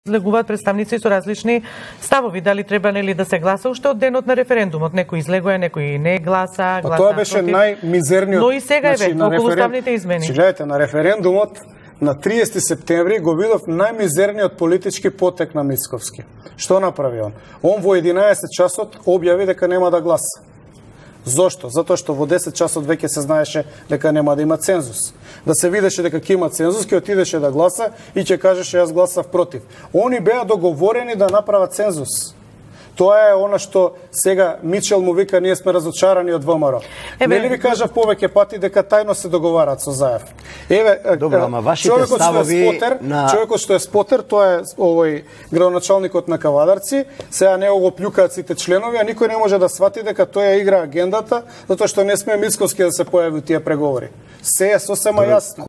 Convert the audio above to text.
излегуваат представници со различни ставови. Дали треба нели да се гласа уште од денот на референдумот? Некој излегува, некој не гласа, Тоа беше најмизерниот. Но и сега е околу уставните измени. Гледате, на референдумот на 30 септември го видов најмизерниот политички потек на Мицковски. Што направи он? Он во 11 часот објави дека нема да гласа. Зошто? Затоа што во 10 часот веќе се знаеше дека нема да има цензус. Да се видеше дека ќе има цензус, ќе отидеше да гласа и ќе кажеше јас гласав против. Они беа договорени да направат цензус. Тоа е она што сега Мичел му вика ние сме разочарани од ВМРО. Нели ви кажав повеќе пати дека тајно се договараат со Заев. Добро, ама вашите ставови човекот што е спотер, тоа е овој градоначалникот на Кавадарци, сега него го плюкаат сите членови, а никој не може да свати дека тој игра агендата, затоа што не сме Мицковски да се појави тие преговори. Се е сосема јасно.